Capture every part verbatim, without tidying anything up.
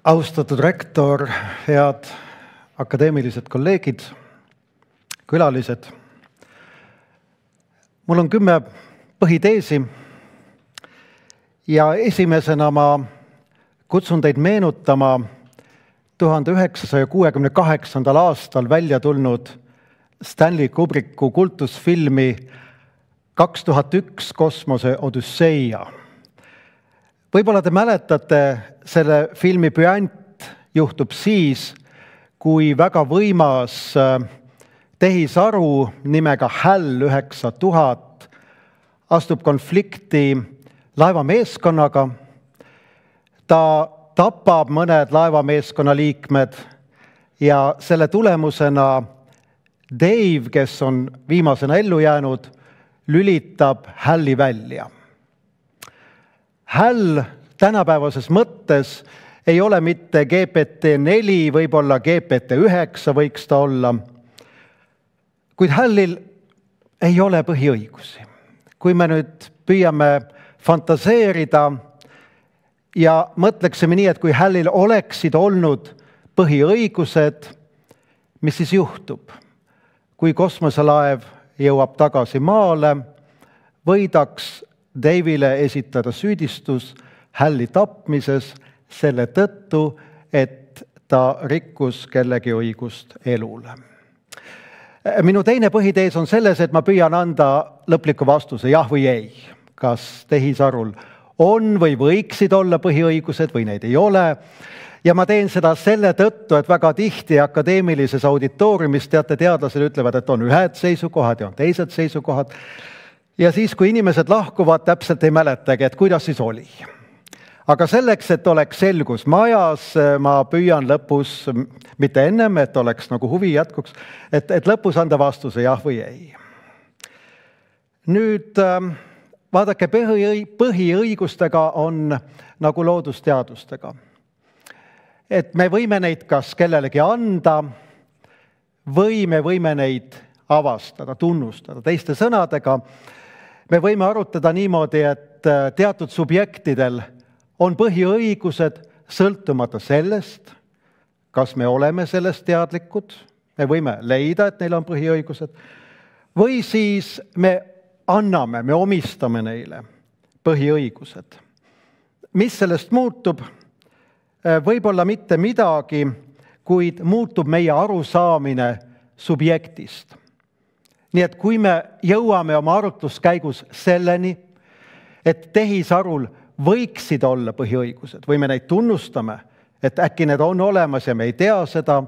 Austatud rektor, head akadeemilised kolleegid, külalised. Mul on kümme põhiteesi ja esimesena ma kutsun teid meenutama tuhande üheksasaja kuuekümne kaheksandal aastal välja tulnud Stanley Kubricku kultusfilmi kaks tuhat üks Kosmose Odüsseia. Võib-olla te mäletate, selle filmi püant juhtub siis, kui väga võimas tehisaru nimega HAL üheksa tuhat astub konflikti laevameeskonnaga. Ta tapab mõned laevameeskonna liikmed ja selle tulemusena Dave, kes on viimasena ellu jäänud, lülitab HAL-i välja. HAL tänapäevases mõttes ei ole mitte G P T neli, võib-olla G P T üheksa võiks ta olla, kuid HAL-il ei ole põhiõigusi. Kui me nüüd püüame fantaseerida ja mõtleksime nii, et kui HAL-il oleksid olnud põhiõigused, mis siis juhtub? Kui kosmoselaev jõuab tagasi maale, võidaks Dave'ile esitada süüdistus HAL-i tapmises selle tõttu, et ta rikkus kellegi õigust elule. Minu teine põhitees on selles, et ma püüan anda lõpliku vastuse jah või ei. Kas tehisarul on või võiksid olla põhiõigused või neid ei ole. Ja ma teen seda selle tõttu, et väga tihti akadeemilises auditooriumis teate, teadlased ütlevad, et on ühed seisukohad ja on teised seisukohad. Ja siis, kui inimesed lahkuvad, täpselt ei mäletagi, et kuidas siis oli. Aga selleks, et oleks selgus majas, ma püüan lõpus, mitte ennem, et oleks nagu huvi jätkuks, et, et lõpus anda vastuse jah või ei. Nüüd vaadake, põhiõigustega on nagu loodusteadustega. Et me võime neid kas kellelegi anda või me võime neid avastada, tunnustada. Teiste sõnadega, me võime arutada niimoodi, et teatud subjektidel on põhiõigused sõltumata sellest, kas me oleme sellest teadlikud, me võime leida, et neil on põhiõigused, või siis me anname, me omistame neile põhiõigused. Mis sellest muutub? Võib-olla mitte midagi, kuid muutub meie arusaamine subjektist. Nii et kui me jõuame oma arutluskäigus selleni, et tehisarul võiksid olla põhiõigused või me neid tunnustame, et äkki need on olemas ja me ei tea seda,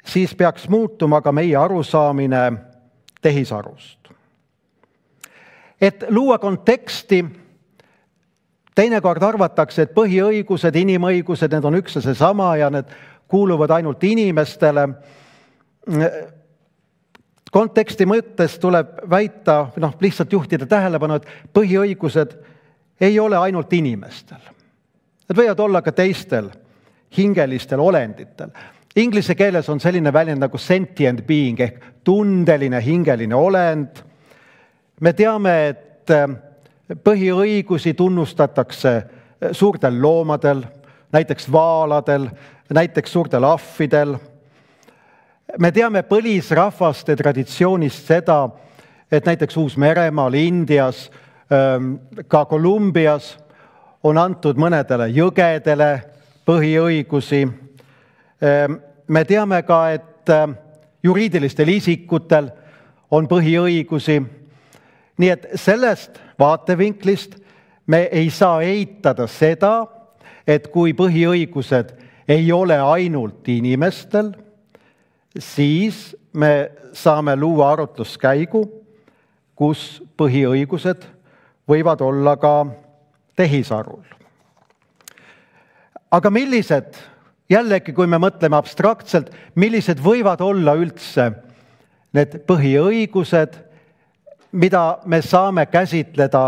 siis peaks muutuma ka meie arusaamine tehisarust. Et luua konteksti, teinekord arvatakse, et põhiõigused, inimõigused, need on üks ja seesama ja need kuuluvad ainult inimestele. Konteksti mõttes tuleb väita, noh, lihtsalt juhtida tähelepanu, et põhiõigused ei ole ainult inimestel. Need võivad olla ka teistel hingelistel olenditel. Inglise keeles on selline väljend nagu sentient being ehk tundeline hingeline olend. Me teame, et põhiõigusi tunnustatakse suurtel loomadel, näiteks vaaladel, näiteks suurtel ahvidel. Me teame põlisrahvaste traditsioonist seda, et näiteks Uus-Meremaal, Indias, ka Kolumbias on antud mõnedele jõgedele põhiõigusi. Me teame ka, et juriidilistel isikutel on põhiõigusi. Nii et sellest vaatevinklist me ei saa eitada seda, et kui põhiõigused ei ole ainult inimestel, siis me saame luua arutluskäigu, kus põhiõigused võivad olla ka tehisarul. Aga millised, jällegi kui me mõtleme abstraktselt, millised võivad olla üldse need põhiõigused, mida me saame käsitleda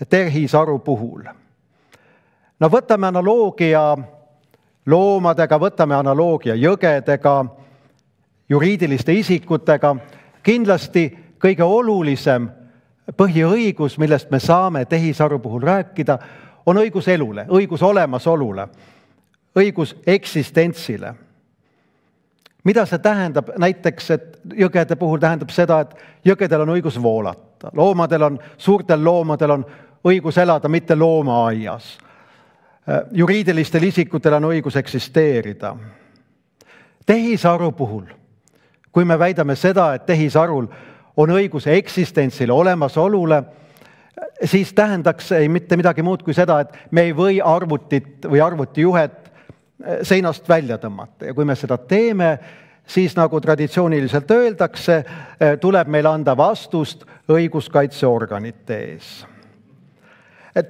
tehisaru puhul? No võtame analoogia loomadega, võtame analoogia jõgedega, juriidiliste isikutega. Kindlasti kõige olulisem põhiõigus, millest me saame tehisaru puhul rääkida, on õigus elule, õigus olemasolule, õigus eksistentsile. Mida see tähendab? Näiteks, et jõgede puhul tähendab seda, et jõgedel on õigus voolata. Loomadel on, suurtel loomadel on õigus elada mitte loomaaias. Juriidilistel isikutel on õigus eksisteerida. Tehisaru puhul, kui me väidame seda, et tehisarul on õigus eksistentsile, olemasolule, siis tähendaks ei mitte midagi muud kui seda, et me ei või arvutit või arvutijuhet seinast välja tõmmata. Ja kui me seda teeme, siis nagu traditsiooniliselt öeldakse, tuleb meil anda vastust õiguskaitseorganite ees.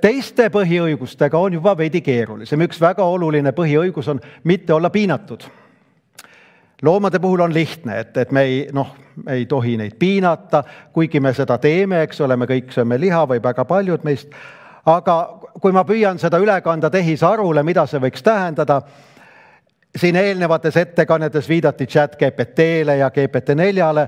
Teiste põhiõigustega on juba veidi keerulisem. Üks väga oluline põhiõigus on mitte olla piinatud. Loomade puhul on lihtne, et, et me ei, noh, ei tohi neid piinata, kuigi me seda teeme, eks ole, me kõik sööme liha või väga paljud meist. Aga kui ma püüan seda üle kanda tehisarule, mida see võiks tähendada, siin eelnevates ettekannetes viidati chat G P T-le ja G P T neljale,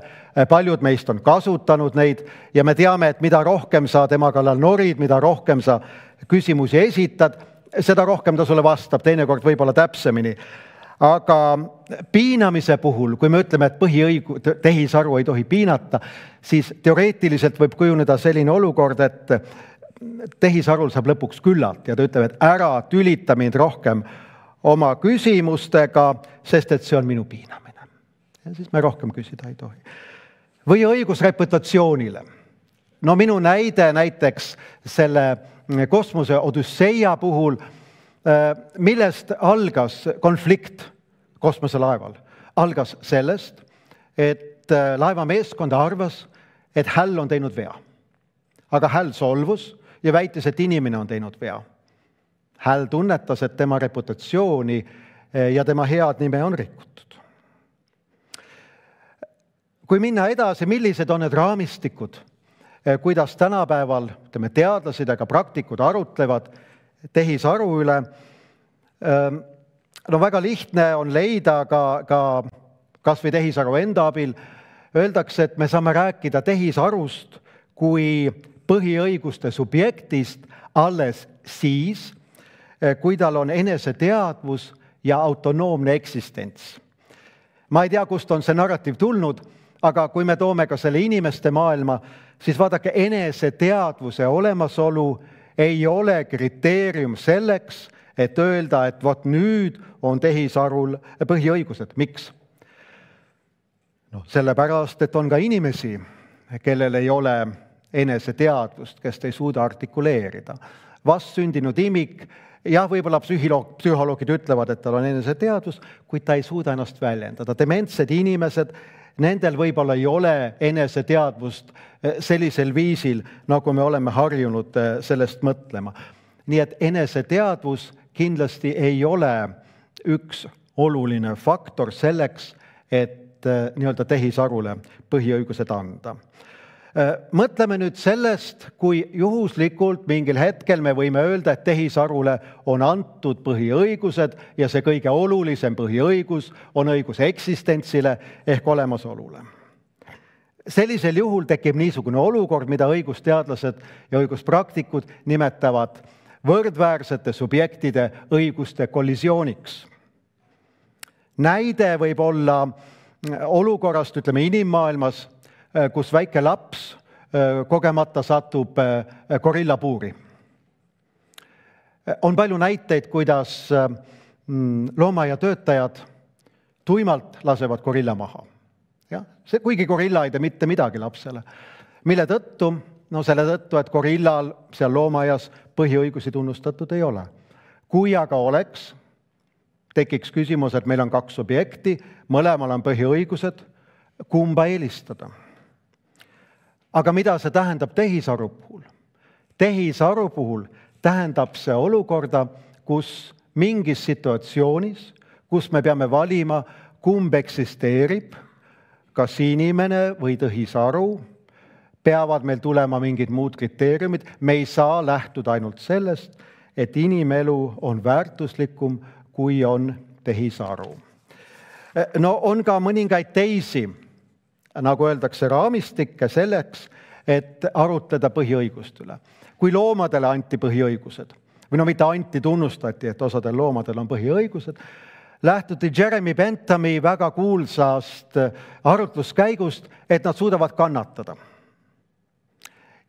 paljud meist on kasutanud neid ja me teame, et mida rohkem sa tema kallal norid, mida rohkem sa küsimusi esitad, seda rohkem ta sulle vastab, teinekord võib-olla täpsemini. Aga piinamise puhul, kui me ütleme, et põhiõigu, tehisaru ei tohi piinata, siis teoreetiliselt võib kujuneda selline olukord, et tehisarul saab lõpuks küllalt ja ta ütleb, et ära tülita mind rohkem oma küsimustega, sest et see on minu piinamine. Ja siis me rohkem küsida ei tohi. Või õigus reputatsioonile. No minu näide näiteks selle kosmose Odüsseia puhul, millest algas konflikt kosmoselaeval. Algas sellest, et laeva meeskond arvas, et häll on teinud vea. Aga häll solvus ja väitis, et inimene on teinud vea. Häll tunnetas, et tema reputatsiooni ja tema head nime on rikutud. Kui minna edasi, millised on need raamistikud, kuidas tänapäeval ütleme, teadlased ja ka praktikud arutlevad tehisaru üle, no väga lihtne on leida ka, ka kas või tehisaru enda abil, öeldakse, et me saame rääkida tehisarust kui põhiõiguste subjektist alles siis, kui tal on eneseteadvus ja autonoomne eksistents. Ma ei tea, kust on see narratiiv tulnud, aga kui me toome ka selle inimeste maailma, siis vaadake, eneseteadvuse olemasolu ei ole kriteerium selleks, et öelda, et vot nüüd on tehisarul põhiõigused. Miks? No, sellepärast, et on ka inimesi, kellel ei ole eneseteadvust, kes ei suuda artikuleerida. Vastsündinud imik, jah, võib-olla psühholoogid ütlevad, et tal on eneseteadvus, kuid ta ei suuda ennast väljendada. Dementsed inimesed, nendel võib-olla ei ole eneseteadvust sellisel viisil, nagu me oleme harjunud sellest mõtlema. Nii et eneseteadvus kindlasti ei ole üks oluline faktor selleks, et nii-öelda tehisarule põhiõigused anda. Mõtleme nüüd sellest, kui juhuslikult mingil hetkel me võime öelda, et tehisarule on antud põhiõigused ja see kõige olulisem põhiõigus on õigus eksistentsile ehk olemasolule. Sellisel juhul tekib niisugune olukord, mida õigusteadlased ja õiguspraktikud nimetavad võrdväärsete subjektide õiguste kollisiooniks. Näide võib olla olukorrast, ütleme, inimmaailmas, kus väike laps kogemata satub gorillapuuri. On palju näiteid, kuidas loomaaia-töötajad tuimalt lasevad gorilla maha. Ja, see, kuigi gorilla ei tee mitte midagi lapsele. Mille tõttu? No selle tõttu, et gorillal seal loomaaias põhiõigusi tunnustatud ei ole. Kui aga oleks, tekiks küsimus, et meil on kaks objekti, mõlemal on põhiõigused, kumba eelistada. Aga mida see tähendab tehisaru puhul? Tehisaru puhul tähendab see olukorda, kus mingis situatsioonis, kus me peame valima, kumb eksisteerib, kas inimene või tehisaru, peavad meil tulema mingid muud kriteeriumid. Me ei saa lähtuda ainult sellest, et inimelu on väärtuslikum, kui on tehisaru. No on ka mõningaid teisi, nagu öeldakse, raamistikke selleks, et arutleda põhiõigust üle. Kui loomadele anti põhiõigused, või no mitte anti, tunnustati, et osadel loomadel on põhiõigused, lähtuti Jeremy Benthami väga kuulsast arutluskäigust, et nad suudavad kannatada.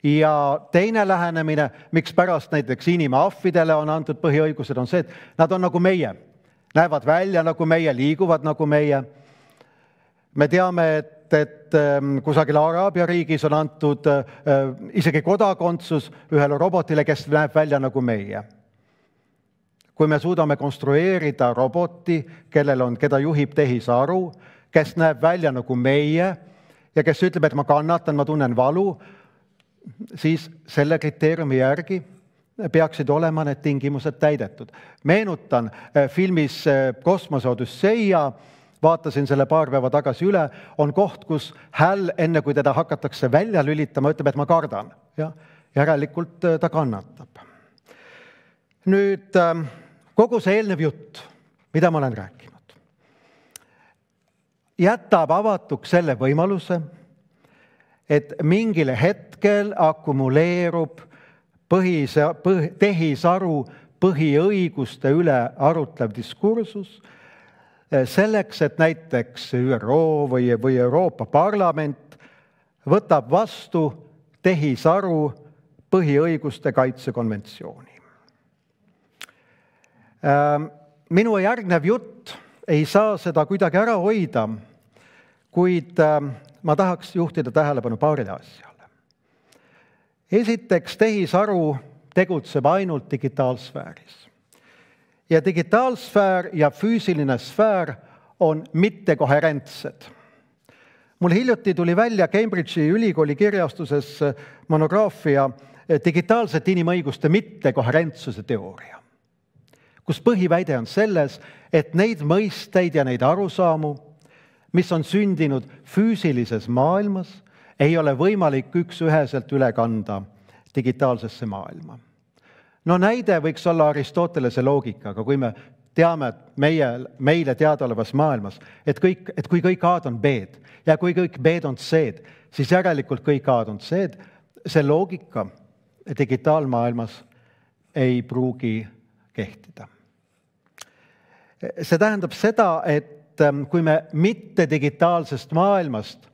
Ja teine lähenemine, miks pärast näiteks inimahvidele on antud põhiõigused, on see, et nad on nagu meie, näevad välja nagu meie, liiguvad nagu meie. Me teame, et et kusagil Araabia riigis on antud isegi kodakondsus ühele robotile, kes näeb välja nagu meie. Kui me suudame konstrueerida roboti, kellel on, keda juhib tehisaru, kes näeb välja nagu meie ja kes ütleb, et ma kannatan, ma tunnen valu, siis selle kriteeriumi järgi peaksid olema need tingimused täidetud. Meenutan filmis Kosmose Odüsseia, vaatasin selle paar päeva tagasi üle, on koht, kus Hal, enne kui teda hakatakse välja lülitama, ütleb, et ma kardan. Ja järelikult ta kannatab. Nüüd kogu see eelnev jutt, mida ma olen rääkinud, jätab avatuks selle võimaluse, et mingil hetkel akumuleerub põhisa, põh, tehisaru põhiõiguste üle arutlev diskursus, selleks, et näiteks ÜRO või, või Euroopa Parlament võtab vastu tehisaru põhiõiguste kaitsekonventsiooni. Minu järgnev jutt ei saa seda kuidagi ära hoida, kuid ma tahaks juhtida tähelepanu paarile asjale. Esiteks, tehisaru tegutseb ainult digitaalsfääris. Ja digitaalsfäär ja füüsiline sfäär on mittekoherentsed. Mul hiljuti tuli välja Cambridge'i ülikooli kirjastuses monograafia digitaalsete inimõiguste mittekoherentsuse teooria, kus põhiväide on selles, et neid mõisteid ja neid arusaamu, mis on sündinud füüsilises maailmas, ei ole võimalik üks-üheselt üle kanda digitaalsesse maailma. No näide võiks olla Aristotelese loogikaga, kui me teame, et meie, meile teadaolevas maailmas, et, kõik, et kui kõik A-d on B-d ja kui kõik B-d on C-d, siis järelikult kõik A-d on C-d, see loogika digitaalmaailmas ei pruugi kehtida. See tähendab seda, et kui me mitte digitaalsest maailmast,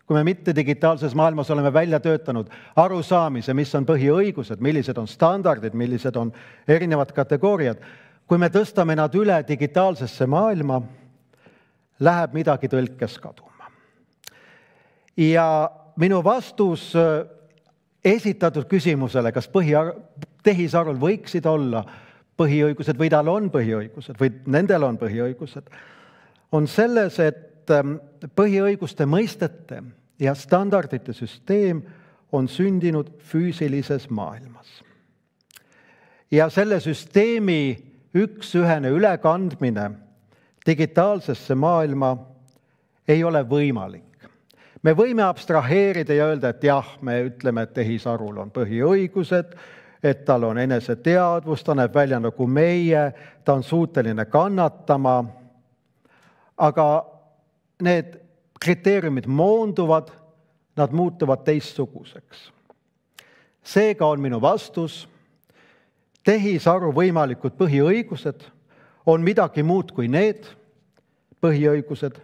kui me mitte digitaalses maailmas oleme välja töötanud arusaamise, mis on põhiõigused, millised on standardid, millised on erinevad kategooriad, kui me tõstame nad üle digitaalsesse maailma, läheb midagi tõlkes kaduma. Ja minu vastus esitatud küsimusele, kas põhi- tehisarul võiksid olla põhiõigused või tal on põhiõigused või nendel on põhiõigused, on selles, et põhiõiguste mõistete ja standardite süsteem on sündinud füüsilises maailmas. Ja selle süsteemi üks-ühene ülekandmine digitaalsesse maailma ei ole võimalik. Me võime abstraheerida ja öelda, et jah, me ütleme, et tehisarul on põhiõigused, et tal on eneseteadvus, ta näeb välja nagu meie, ta on suuteline kannatama, aga need kriteeriumid moonduvad, nad muutuvad teistsuguseks. Seega on minu vastus, tehisaru võimalikud põhiõigused on midagi muud kui need põhiõigused,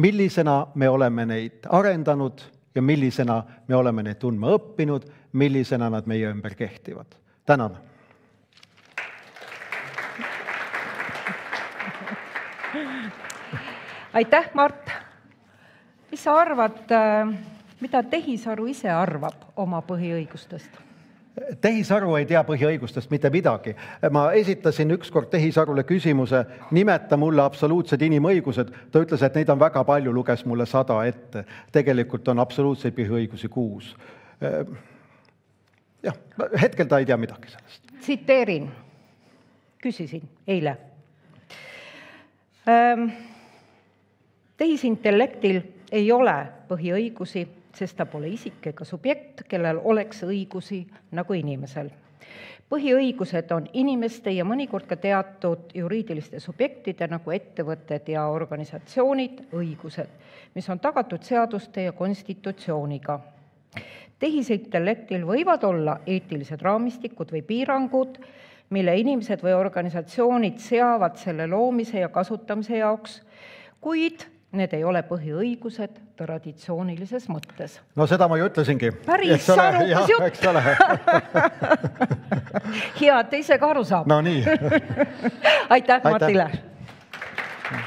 millisena me oleme neid arendanud ja millisena me oleme neid tundma õppinud, millisena nad meie ümber kehtivad. Tänan! Aitäh, Mart! Mis sa arvad, mida tehisaru ise arvab oma põhiõigustest? Tehisaru ei tea põhiõigustest mitte midagi. Ma esitasin ükskord tehisarule küsimuse, nimeta mulle absoluutsed inimõigused. Ta ütles, et neid on väga palju, luges mulle sada ette. Tegelikult on absoluutseid põhiõigusi kuus. Jah, hetkel ta ei tea midagi sellest. Tsiteerin. Küsisin eile. Ähm, tehisintellektil ei ole põhiõigusi, sest ta pole isik ega subjekt, kellel oleks õigusi nagu inimesel. Põhiõigused on inimeste ja mõnikord ka teatud juriidiliste subjektide nagu ettevõtted ja organisatsioonid õigused, mis on tagatud seaduste ja konstitutsiooniga. Tehisintellektil võivad olla eetilised raamistikud või piirangud mille inimesed või organisatsioonid seavad selle loomise ja kasutamise jaoks, kuid need ei ole põhiõigused traditsioonilises mõttes. No seda ma ju ütlesingi. Päris arukas jutt. Hea, et ise ka aru saab. No nii. Aitäh, Matile!